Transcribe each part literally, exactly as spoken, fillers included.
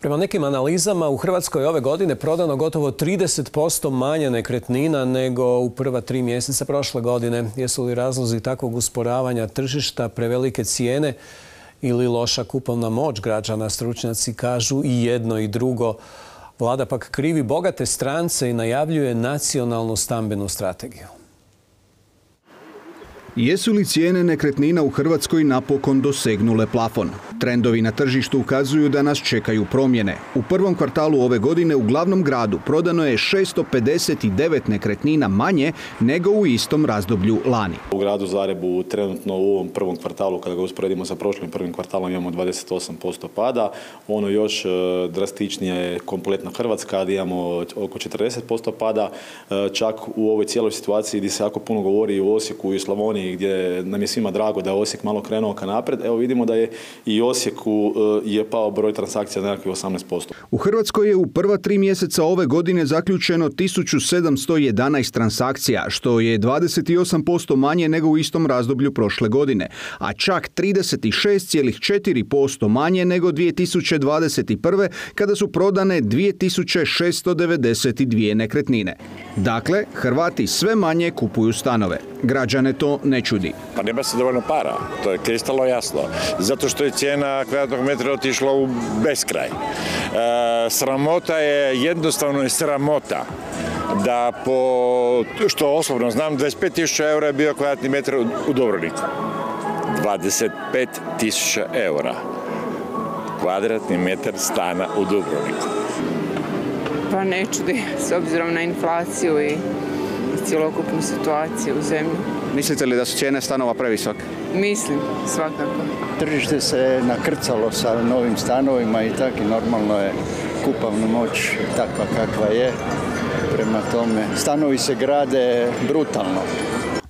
Prema nekim analizama u Hrvatskoj ove godine prodano gotovo trideset posto manje nekretnina nego u prva tri mjeseca prošle godine. Jesu li razlozi takvog usporavanja tržišta prevelike cijene ili loša kupovna moć građana? Stručnjaci kažu i jedno i drugo. Vlada pak krivi bogate strance i najavljuje nacionalnu stambenu strategiju. Jesu li cijene nekretnina u Hrvatskoj napokon dosegnule plafon? Trendovi na tržištu ukazuju da nas čekaju promjene. U prvom kvartalu ove godine u glavnom gradu prodano je šesto pedeset devet nekretnina manje nego u istom razdoblju lani. U gradu Zagrebu trenutno u ovom prvom kvartalu, kada ga usporedimo sa prošlim prvim kvartalom, imamo dvadeset osam posto pada. Ono još drastičnije je kompletna Hrvatska, gdje imamo oko četrdeset posto pada. Čak u ovoj cijeloj situaciji gdje se jako puno govori o Osijeku i Slavoniji, gdje nam je svima drago da je Osijek malo krenuo ka naprijed, evo vidimo da je i Osijeku je pao broj transakcija na nekakvih osamnaest posto. U Hrvatskoj je u prva tri mjeseca ove godine zaključeno tisuću sedamsto jedanaest transakcija, što je dvadeset osam posto manje nego u istom razdoblju prošle godine, a čak trideset šest zarez četiri posto manje nego dvije tisuće dvadeset prve. kada su prodane dvije tisuće šesto devedeset dvije nekretnine. Dakle, Hrvati sve manje kupuju stanove. Građane to ne čudi. Pa nema se dovoljno para, to je kristalno jasno. Zato što je cijena kvadratnog metra otišla u beskraj. E, sramota je, jednostavno je sramota da po, što osobno znam, dvadeset pet tisuća eura je bio kvadratni metar u Dubrovniku. dvadeset pet tisuća eura. Kvadratni metar stana u Dubrovniku. Pa ne čudi, s obzirom na inflaciju i cjelokupnu situaciju u zemlji. Mislite li da su cijene stanova previsoke? Mislim, svakako. Tržište se nakrcalo sa novim stanovima i tako i normalno je kupovna moć takva kakva je. Prema tome, stanovi se grade brutalno.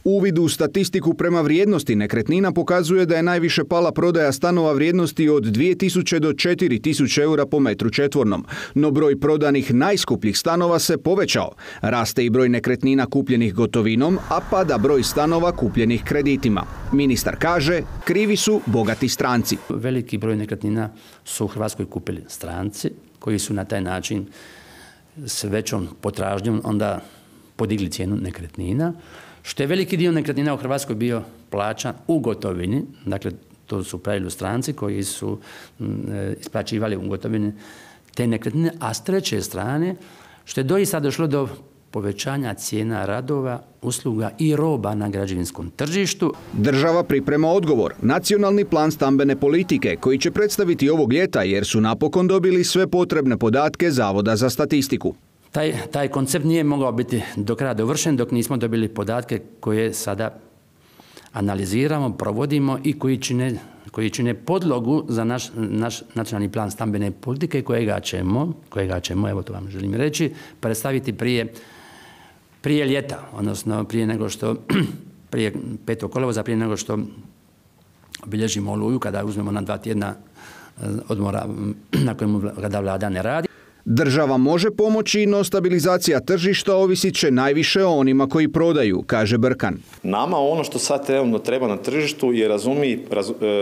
Uvid u statistiku prema vrijednosti nekretnina pokazuje da je najviše pala prodaja stanova vrijednosti od dvije tisuće do četiri tisuće eura po metru četvornom. No broj prodanih najskupljih stanova se povećao. Raste i broj nekretnina kupljenih gotovinom, a pada broj stanova kupljenih kreditima. Ministar kaže, krivi su bogati stranci. Veliki broj nekretnina su u Hrvatskoj kupili stranci koji su na taj način s većom potražnjom onda podigli cijenu nekretnina, što je veliki dio nekretnina u Hrvatskoj bio plaćan u gotovini, dakle to su u pravilu stranci koji su isplaćivali u gotovini te nekretnine, a s treće strane, što je doista došlo do povećanja cijena radova, usluga i roba na građevinskom tržištu. Država priprema odgovor, nacionalni plan stambene politike, koji će predstaviti ovog ljeta jer su napokon dobili sve potrebne podatke Zavoda za statistiku. Taj, taj koncept nije mogao biti do kraja dovršen dok nismo dobili podatke koje sada analiziramo, provodimo i koji čine, koji čine podlogu za naš, naš nacionalni plan stambene politike kojega ćemo, kojega ćemo, evo to vam želim reći, predstaviti prije, prije ljeta, odnosno prije nego što, prije petog kolovoza, prije nego što obilježimo Oluju, kada uzmemo na dva tjedna odmora na kojemu kada vlada ne radi. Država može pomoći, no stabilizacija tržišta ovisit će najviše o onima koji prodaju, kaže Brkan. Nama ono što sad trenutno treba na tržištu je razumi, raz, e, e,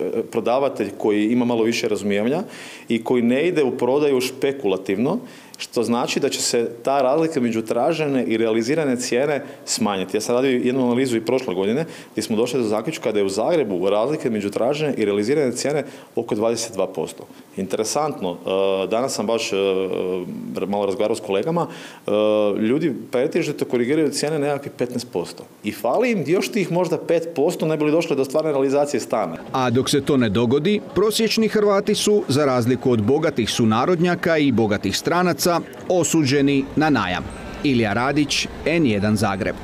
e, prodavatelj koji ima malo više razumijevanja i koji ne ide u prodaju špekulativno, što znači da će se ta razlika među tražene i realizirane cijene smanjiti. Ja sam radio jednu analizu i prošle godine gdje smo došli do zaključka da je u Zagrebu razlike među tražene i realizirane cijene oko dvadeset dva posto. Interesantno, danas sam baš malo razgovarao s kolegama, ljudi pretežito korigiraju cijene nekakvih petnaest posto. I fali im još tih možda pet posto ne bi li došli do stvarne realizacije stana. A dok se to ne dogodi, prosječni Hrvati su, za razliku od bogatih sunarodnjaka i bogatih stranaca, osuđeni na najam. Ilija Radić, N jedan Zagreb.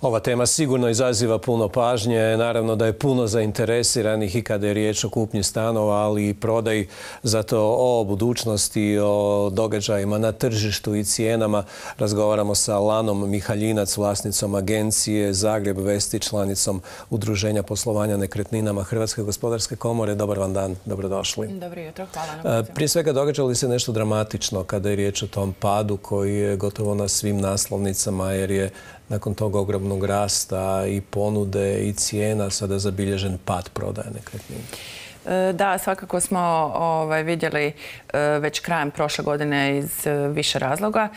Ova tema sigurno izaziva puno pažnje. Naravno da je puno zainteresiranih i kada je riječ o kupnji stanova, ali i prodaji. Zato o budućnosti, o događajima na tržištu i cijenama razgovaramo sa Lanom Mihaljinac, vlasnicom agencije Zagreb Vesti, članicom Udruženja poslovanja nekretninama Hrvatske gospodarske komore. Dobar vam dan, dobrodošli. Dobro jutro, hvala na pozivu. Prije svega, događa li se nešto dramatično kada je riječ o tom padu koji je gotovo na svim naslovnicama, jer je nakon tog ogromnog rasta i ponude i cijena sada zabilježen pad prodaje nekretnina? Da, svakako smo ovaj, vidjeli već krajem prošle godine iz više razloga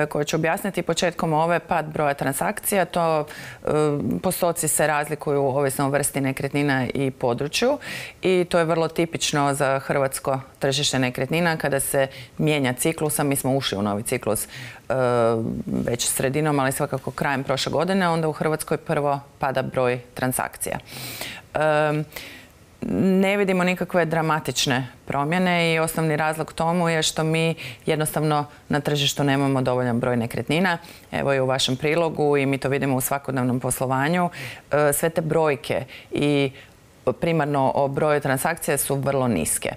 koje ću objasniti. Početkom ove pad broja transakcija, to postoci se razlikuju ovisno o vrsti nekretnina i području i to je vrlo tipično za hrvatsko tržište nekretnina kada se mijenja ciklus, a mi smo ušli u novi ciklus već sredinom, ali svakako krajem prošle godine, onda u Hrvatskoj prvo pada broj transakcija. Ne vidimo nikakve dramatične promjene i osnovni razlog tomu je što mi jednostavno na tržištu nemamo dovoljan broj nekretnina. Evo i u vašem prilogu i mi to vidimo u svakodnevnom poslovanju. Sve te brojke i primarno o broju transakcija su vrlo niske.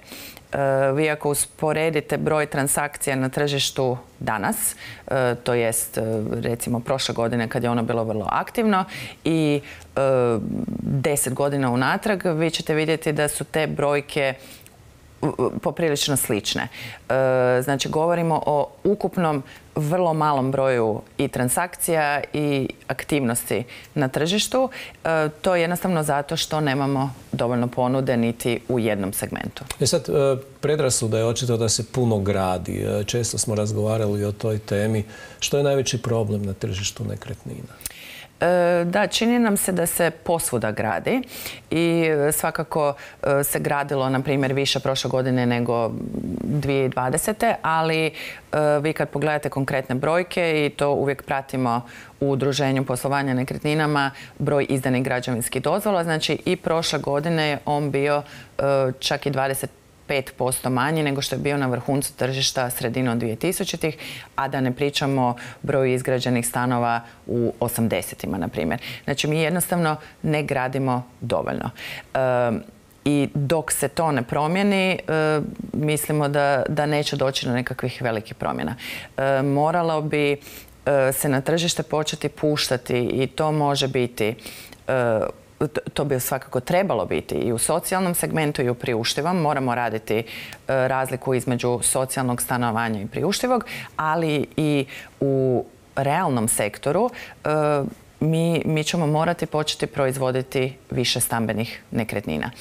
Vi ako usporedite broj transakcija na tržištu danas, to jest recimo prošle godine kad je ono bilo vrlo aktivno i deset godina unatrag, vi ćete vidjeti da su te brojke poprilično slične. Znači, govorimo o ukupnom vrlo malom broju i transakcija i aktivnosti na tržištu. To je jednostavno zato što nemamo dovoljno ponude niti u jednom segmentu. E sad, predrasuda je očito da se puno gradi. Često smo razgovarali o toj temi. Što je najveći problem na tržištu nekretnina? Da, čini nam se da se posvuda gradi i svakako se gradilo, na primjer, više prošle godine nego dvije tisuće dvadesete. ali vi kad pogledate konkretne brojke, i to uvijek pratimo u Udruženju poslovanja nekretninama, broj izdanih građevinskih dozvola, znači i prošle godine je on bio čak i dvadeset pet posto manji nego što je bio na vrhuncu tržišta sredinom dvije tisućitih, a da ne pričamo broju izgrađenih stanova u osamdesetima, na primjer. Znači, mi jednostavno ne gradimo dovoljno. I dok se to ne promijeni, mislimo da, da neće doći do nekakvih velikih promjena. Moralo bi se na tržište početi puštati i to može biti to bi svakako trebalo biti i u socijalnom segmentu i u priuštivom. Moramo raditi razliku između socijalnog stanovanja i priuštivog, ali i u realnom sektoru mi, mi ćemo morati početi proizvoditi više stambenih nekretnina.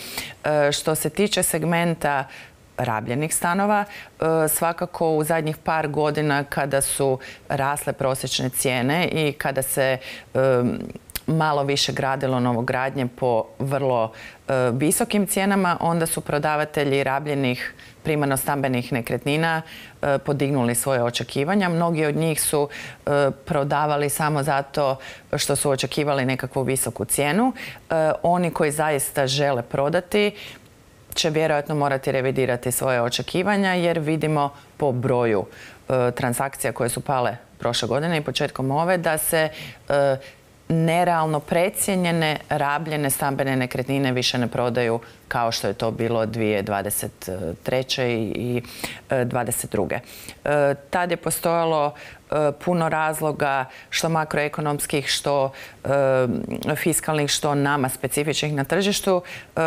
Što se tiče segmenta rabljenih stanova, svakako u zadnjih par godina kada su rasle prosječne cijene i kada se malo više gradilo novogradnje po vrlo visokim cijenama, onda su prodavatelji rabljenih primarno stambenih nekretnina podignuli svoje očekivanja. Mnogi od njih su prodavali samo zato što su očekivali nekakvu visoku cijenu. Oni koji zaista žele prodati će vjerojatno morati revidirati svoje očekivanja jer vidimo po broju transakcija koje su pale prošle godine i početkom ove da se nerealno precijenjene rabljene stambene nekretnine više ne prodaju kao što je to bilo dvije tisuće dvadeset treće i dvadeset druge. Tad je postojalo puno razloga, što makroekonomskih, što fiskalnih, što nama specifičnih na tržištu,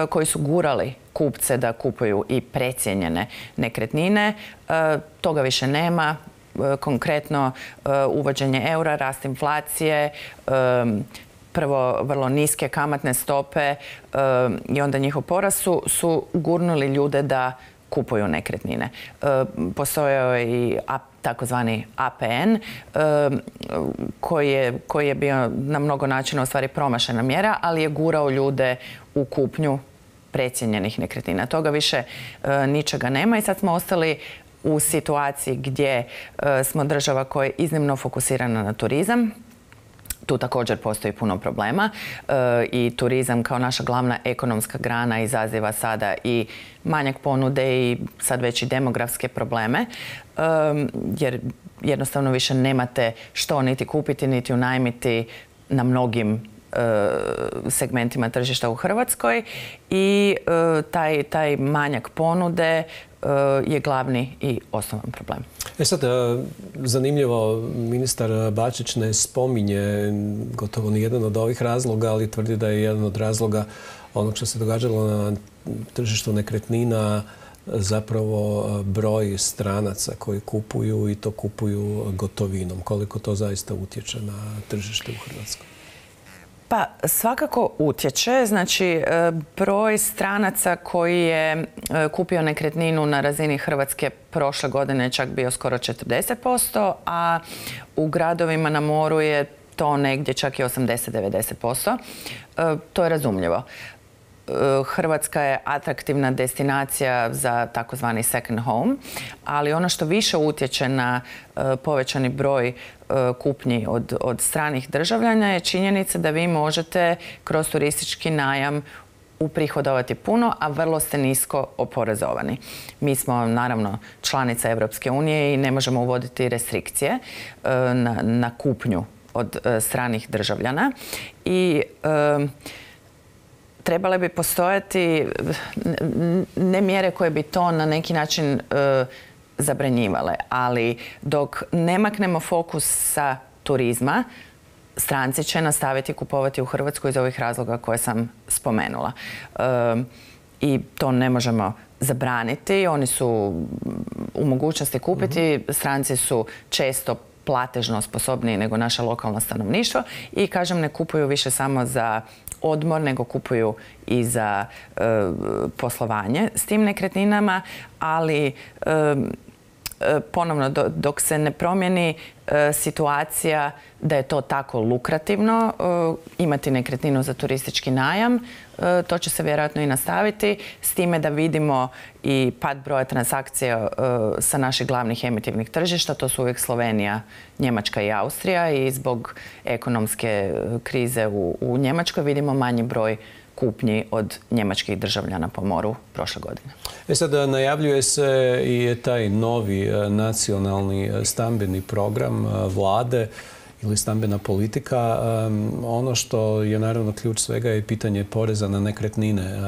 koji su gurali kupce da kupuju i precijenjene nekretnine. Toga više nema. Konkretno uvođenje eura, rast inflacije, prvo vrlo niske kamatne stope i onda njihov porast su, su gurnuli ljude da kupuju nekretnine. Postojao je i takozvani A P N koji je, koji je bio na mnogo načina u stvari promašena mjera, ali je gurao ljude u kupnju precijenjenih nekretnina. Toga više ničega nema i sad smo ostali u situaciji gdje smo država koja je iznimno fokusirana na turizam. Tu također postoji puno problema i turizam kao naša glavna ekonomska grana izaziva sada i manjak ponude i sad već i demografske probleme jer jednostavno više nemate što niti kupiti niti unajmiti na mnogim segmentima tržišta u Hrvatskoj i taj, taj manjak ponude je glavni i osnovan problem. E sad, zanimljivo, ministar Bačić ne spominje gotovo ni jedan od ovih razloga, ali tvrdi da je jedan od razloga onog što se događalo na tržištu nekretnina zapravo broj stranaca koji kupuju i to kupuju gotovinom? Koliko to zaista utječe na tržište u Hrvatskoj? Pa svakako utječe. Znači, broj stranaca koji je kupio nekretninu na razini Hrvatske prošle godine je čak bio skoro četrdeset posto, a u gradovima na moru je to negdje čak i osamdeset do devedeset posto. To je razumljivo. Hrvatska je atraktivna destinacija za takozvani second home, ali ono što više utječe na povećani broj kupnji od, od stranih državljana je činjenica da vi možete kroz turistički najam uprihodovati puno, a vrlo ste nisko oporezovani. Mi smo naravno članica Europske unije i ne možemo uvoditi restrikcije na, na kupnju od stranih državljana i trebale bi postojati ne mjere koje bi to na neki način zabranjivale, ali dok ne maknemo fokus sa turizma, stranci će nastaviti kupovati u Hrvatskoj iz ovih razloga koje sam spomenula. I to ne možemo zabraniti. Oni su u mogućnosti kupiti. Stranci su često platežno sposobniji nego naše lokalno stanovništvo i, kažem, ne kupuju više samo za odmor, nego kupuju i za e, poslovanje s tim nekretninama, ali e, ponovno, do, dok se ne promijeni e, situacija da je to tako lukrativno e, imati nekretninu za turistički najam, e, to će se vjerojatno i nastaviti, s time da vidimo i pad broja transakcija e, sa naših glavnih emitivnih tržišta, to su uvijek Slovenija, Njemačka i Austrija, i zbog ekonomske krize u, u Njemačkoj vidimo manji broj kupnji od njemačkih državljana po moru prošle godine. E sad, najavljuje se i taj novi nacionalni stambeni program vlade ili stambena politika. Ono što je naravno ključ svega je pitanje poreza na nekretnine.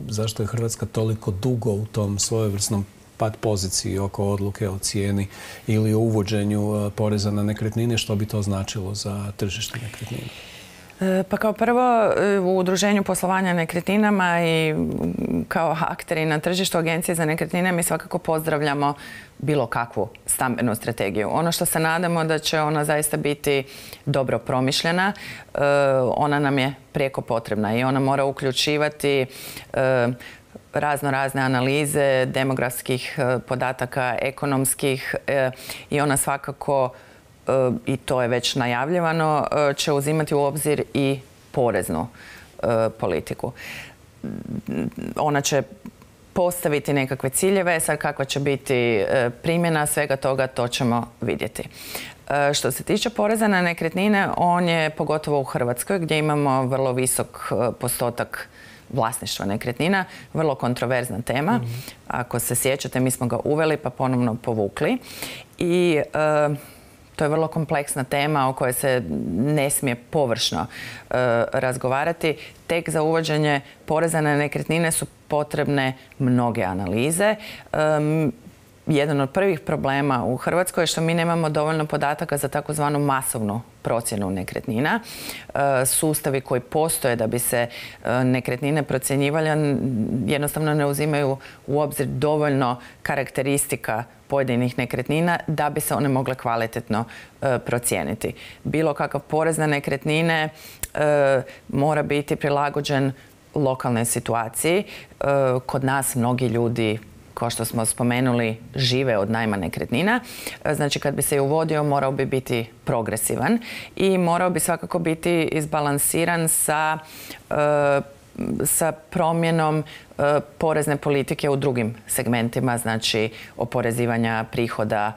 Zašto je Hrvatska toliko dugo u tom svojevrsnom pad poziciji oko odluke o cijeni ili o uvođenju poreza na nekretnine? Što bi to značilo za tržište nekretnina? Pa kao prvo, u Udruženju poslovanja nekretninama i kao akteri na tržištu Agencije za nekretnine mi svakako pozdravljamo bilo kakvu stambenu strategiju. Ono što se nadamo da će ona zaista biti dobro promišljena, ona nam je prijeko potrebna i ona mora uključivati razno razne analize demografskih podataka, ekonomskih, i ona svakako, i to je već najavljivano, će uzimati u obzir i poreznu politiku. Ona će postaviti nekakve ciljeve, sad kakva će biti primjena svega toga, to ćemo vidjeti. Što se tiče poreza na nekretnine, on je pogotovo u Hrvatskoj gdje imamo vrlo visok postotak vlasništva nekretnina, vrlo kontroverzna tema. Mm-hmm. Ako se sjećate, mi smo ga uveli pa ponovno povukli i e, to je vrlo kompleksna tema o kojoj se ne smije površno e, razgovarati. Tek za uvođenje poreza na nekretnine su potrebne mnoge analize. E, Jedan od prvih problema u Hrvatskoj je što mi nemamo dovoljno podataka za takozvanu masovnu procjenu nekretnina. Sustavi koji postoje da bi se nekretnine procjenjivale jednostavno ne uzimaju u obzir dovoljno karakteristika pojedinih nekretnina da bi se one mogle kvalitetno procijeniti. Bilo kakav porez na nekretnine mora biti prilagođen lokalnoj situaciji. Kod nas mnogi ljudi, kao što smo spomenuli, žive od najma nekretnina. Znači, kad bi se uvodio, morao bi biti progresivan i morao bi svakako biti izbalansiran sa, sa promjenom porezne politike u drugim segmentima, znači oporezivanja prihoda,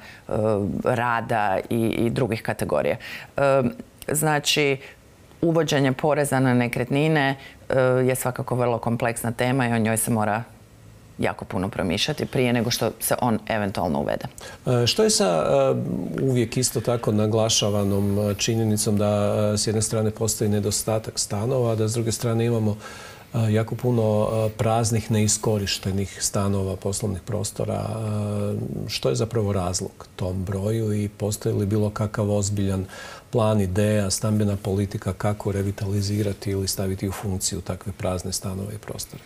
rada i, i drugih kategorija. Znači, uvođenje poreza na nekretnine je svakako vrlo kompleksna tema i o njoj se mora jako puno promišljati prije nego što se on eventualno uvede. Što je sa uvijek isto tako naglašavanom činjenicom da s jedne strane postoji nedostatak stanova, a da s druge strane imamo jako puno praznih, neiskorištenih stanova, poslovnih prostora? Što je zapravo razlog tom broju i postoji li bilo kakav ozbiljan plan, ideja, stambena politika kako revitalizirati ili staviti u funkciju takve prazne stanove i prostore?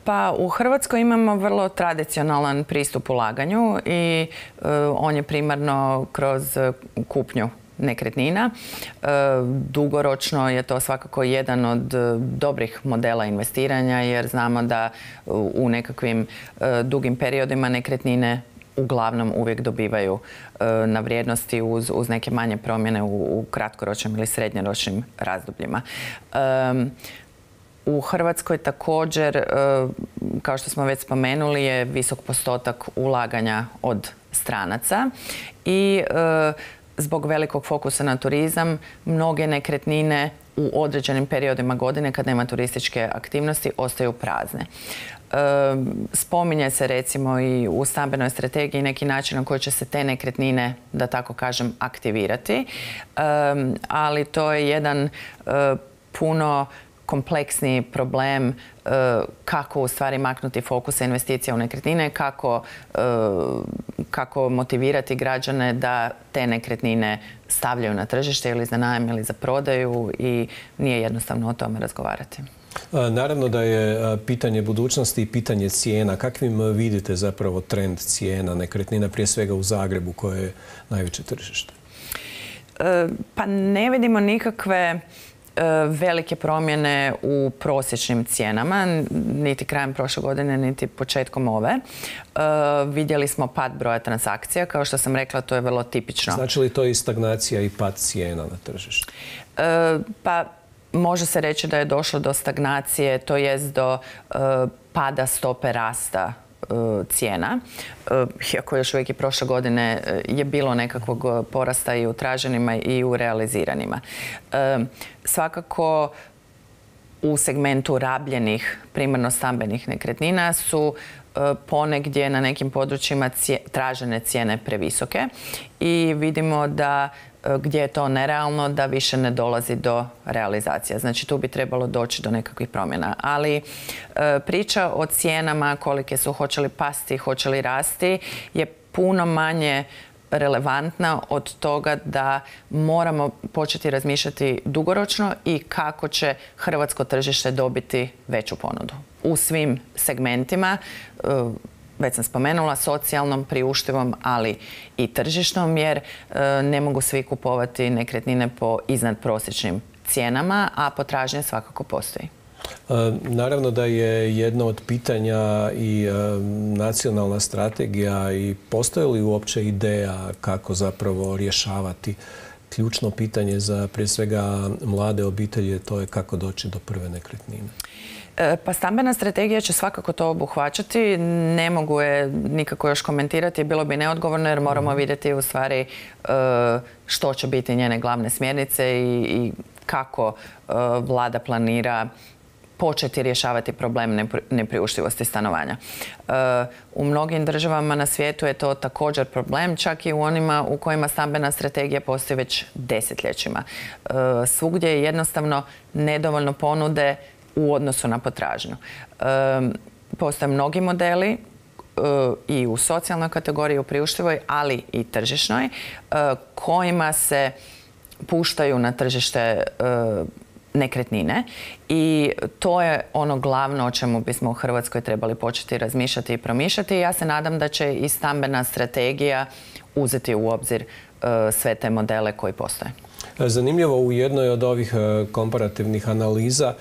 Pa u Hrvatskoj imamo vrlo tradicionalan pristup ulaganju i on je primarno kroz kupnju nekretnina. Dugoročno je to svakako jedan od dobrih modela investiranja jer znamo da u nekakvim dugim periodima nekretnine uglavnom uvijek dobivaju na vrijednosti uz, uz neke manje promjene u, u kratkoročnim ili srednjoročnim razdobljima. Um, U Hrvatskoj također, kao što smo već spomenuli, je visok postotak ulaganja od stranaca i zbog velikog fokusa na turizam mnoge nekretnine u određenim periodima godine kad nema turističke aktivnosti ostaju prazne. Spominje se recimo i u stambenoj strategiji neki način na koji će se te nekretnine, da tako kažem, aktivirati, ali to je jedan puno kompleksni problem kako u stvari maknuti fokus investicija u nekretnine, kako, kako motivirati građane da te nekretnine stavljaju na tržište ili za najam ili za prodaju i nije jednostavno o tome razgovarati. Naravno da je pitanje budućnosti i pitanje cijena. Kakvim vidite zapravo trend cijena nekretnina, prije svega u Zagrebu koje je najveće tržište? Pa ne vidimo nikakve velike promjene u prosječnim cijenama, niti krajem prošle godine, niti početkom ove. Vidjeli smo pad broja transakcija, kao što sam rekla, to je vrlo tipično. Znači li to i stagnacija i pad cijena na tržištu? Pa može se reći da je došlo do stagnacije, to jest do pada stope rasta cijena. Iako još uvijek i prošle godine je bilo nekakvog porasta i u traženima i u realiziranima. Svakako u segmentu rabljenih, primarno stambenih nekretnina su ponegdje na nekim područjima tražene cijene previsoke i vidimo da gdje je to nerealno, da više ne dolazi do realizacija. Znači tu bi trebalo doći do nekakvih promjena. Ali priča o cijenama, kolike su, hoće li pasti, hoće li rasti, je puno manje relevantna od toga da moramo početi razmišljati dugoročno i kako će hrvatsko tržište dobiti veću ponudu. U svim segmentima, već sam spomenula, socijalnom, priuštivom, ali i tržišnom, jer ne mogu svi kupovati nekretnine po iznadprosječnim cijenama, a potražnja svakako postoji. Naravno da je jedno od pitanja i nacionalna strategija i postoji li uopće ideja kako zapravo rješavati ključno pitanje za prije svega mlade obitelji, to je kako doći do prve nekretnine. Pa stambena strategija će svakako to obuhvaćati. Ne mogu je nikako još komentirati, bilo bi neodgovorno jer moramo vidjeti u stvari što će biti njene glavne smjernice i kako vlada planira početi rješavati problem nepriuštivosti stanovanja. U mnogim državama na svijetu je to također problem, čak i u onima u kojima stambena strategija postoji već desetljećima. Svugdje je jednostavno nedovoljno ponude u odnosu na potražnju. Postoje mnogi modeli i u socijalnoj kategoriji, u priuštivoj, ali i tržišnoj, kojima se puštaju na tržište nekretnine i to je ono glavno o čemu bismo u Hrvatskoj trebali početi razmišljati i promišljati. Ja se nadam da će i stambena strategija uzeti u obzir sve te modele koji postoje. Zanimljivo, u jednoj od ovih komparativnih analiza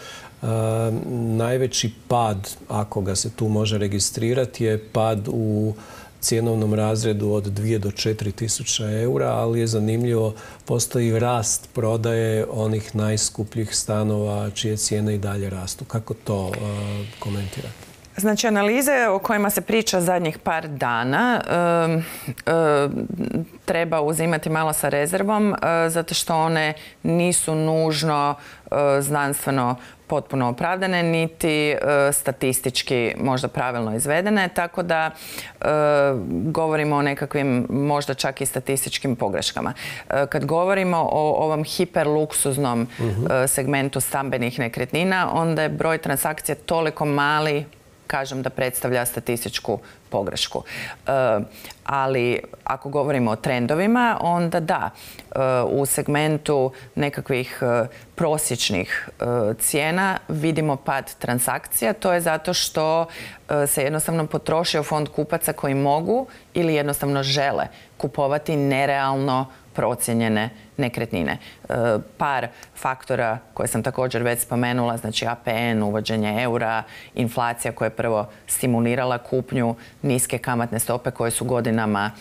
najveći pad, ako ga se tu može registrirati, je pad u cjenovnom razredu od dvije do četiri tisuće eura, ali je zanimljivo, postoji rast prodaje onih najskupljih stanova čije cijene i dalje rastu. Kako to komentirate? Znači, analize o kojima se priča zadnjih par dana e, e, treba uzimati malo sa rezervom, e, zato što one nisu nužno e, znanstveno potpuno opravdane, niti e, statistički možda pravilno izvedene, tako da e, govorimo o nekakvim možda čak i statističkim pogreškama. E, kad govorimo o ovom hiperluksuznom uh-huh. e, segmentu stambenih nekretnina, onda je broj transakcija toliko mali kažem da predstavlja statističku pogrešku. Ali ako govorimo o trendovima, onda da, u segmentu nekakvih prosječnih cijena vidimo pad transakcija. To je zato što se jednostavno potrošio fond kupaca koji mogu ili jednostavno žele kupovati nerealno procijenjene nekretnine. Par faktora koje sam također već spomenula, znači A P N, uvođenje eura, inflacija koja je prvo stimulirala kupnju, niske kamatne stope koje su godinama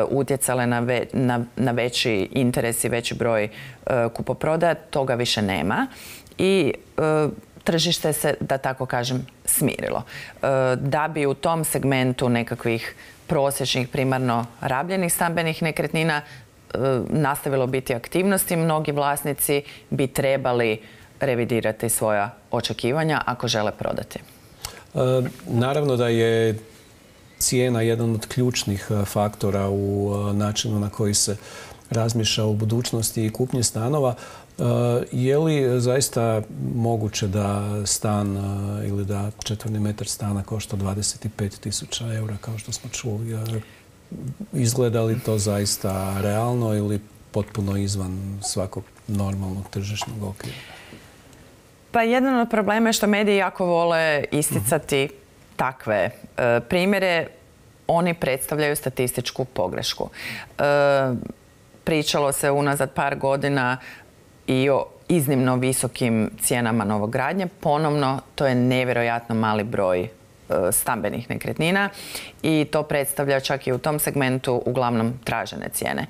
utjecale na, ve, na, na veći interes i veći broj kupoprodaja, toga više nema. I tržište se, da tako kažem, smirilo. Da bi u tom segmentu nekakvih prosječnih, primarno rabljenih stambenih nekretnina nastavilo biti aktivnosti, mnogi vlasnici bi trebali revidirati svoja očekivanja ako žele prodati. Naravno da je cijena jedan od ključnih faktora u načinu na koji se razmišlja o budućnosti i kupnji stanova. Je li zaista moguće da stan ili da četvrni metar stana košta dvadeset pet tisuća eura, kao što smo čuli? Izgleda li to zaista realno ili potpuno izvan svakog normalnog tržišnog okvira? Pa jedan od problema je što mediji jako vole isticati uh-huh. takve e, primjere. Oni predstavljaju statističku pogrešku. E, pričalo se unazad par godina i o iznimno visokim cijenama novogradnje. Ponovno, to je nevjerojatno mali broj stambenih nekretnina i to predstavlja čak i u tom segmentu uglavnom tražene cijene.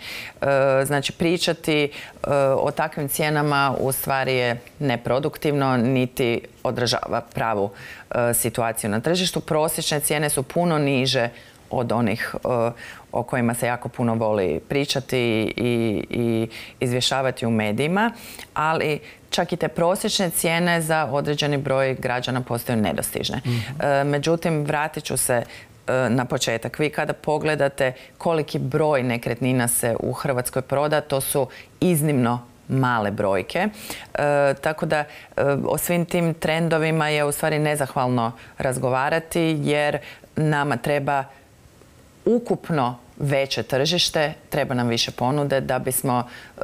Znači, pričati o takvim cijenama u stvari je neproduktivno, niti odražava pravu situaciju na tržištu. Prosječne cijene su puno niže od onih o kojima se jako puno voli pričati i, i izvještavati u medijima, ali čak i te prosječne cijene za određeni broj građana postaju nedostižne. Mm-hmm. Međutim, vratit ću se na početak. Vi kada pogledate koliki broj nekretnina se u Hrvatskoj proda, to su iznimno male brojke. E, tako da e, o svim tim trendovima je u stvari nezahvalno razgovarati, jer nama treba ukupno veće tržište, treba nam više ponude da bismo e,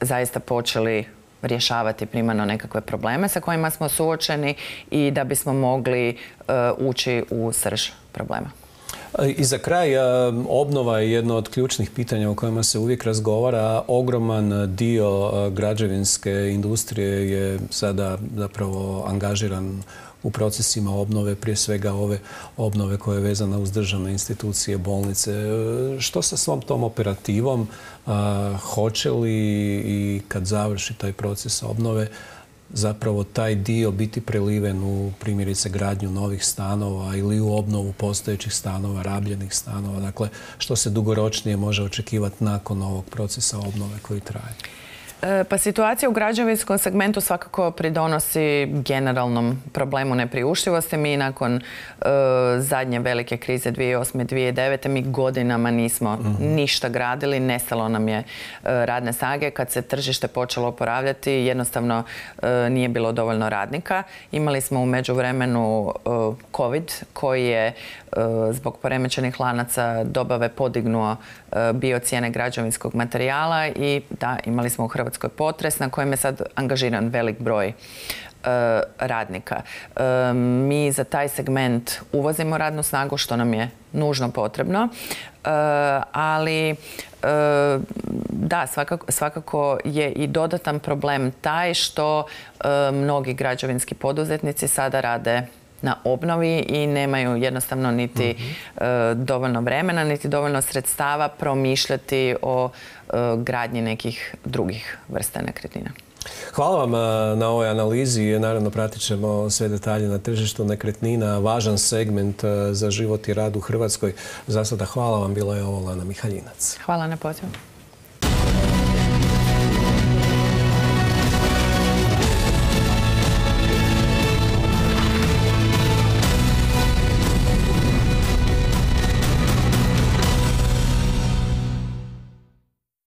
zaista počeli rješavati primarno nekakve probleme sa kojima smo suočeni i da bismo mogli uh, ući u srž problema. I za kraj, obnova je jedno od ključnih pitanja o kojima se uvijek razgovara. Ogroman dio građevinske industrije je sada zapravo angažiran u procesima obnove, prije svega ove obnove koja je vezana uz državne institucije, bolnice. Što sa svom tom operativom? Hoće li i kad završi taj proces obnove zapravo taj dio biti preliven u primjerice gradnju novih stanova ili u obnovu postojećih stanova, rabljenih stanova? Dakle, što se dugoročnije može očekivati nakon ovog procesa obnove koji traje? Pa situacija u građevinskom segmentu svakako pridonosi generalnom problemu nepriuštivosti. Mi nakon uh, zadnje velike krize dvije tisuće osme. dvije tisuće devete. mi godinama nismo mm-hmm. ništa gradili, nestalo nam je uh, radne snage. Kad se tržište počelo oporavljati, jednostavno uh, nije bilo dovoljno radnika. Imali smo u međuvremenu uh, COVID koji je uh, zbog poremećenih lanaca dobave podignuo uh, bio cijene građevinskog materijala i da, imali smo u Hrvatskoj potres na kojem je sad angažiran velik broj e, radnika. E, mi za taj segment uvozimo radnu snagu, što nam je nužno potrebno, e, ali e, da, svakako, svakako je i dodatan problem taj što e, mnogi građevinski poduzetnici sada rade na obnovi i nemaju jednostavno niti mm-hmm. e, dovoljno vremena, niti dovoljno sredstava promišljati o e, gradnji nekih drugih vrsta nekretnina. Hvala vam na ovoj analizi. Naravno, pratit ćemo sve detalje na tržištu nekretnina. Važan segment za život i rad u Hrvatskoj. Za sada hvala vam. Bila je ovo Lana Mihaljinac. Hvala na pozivu.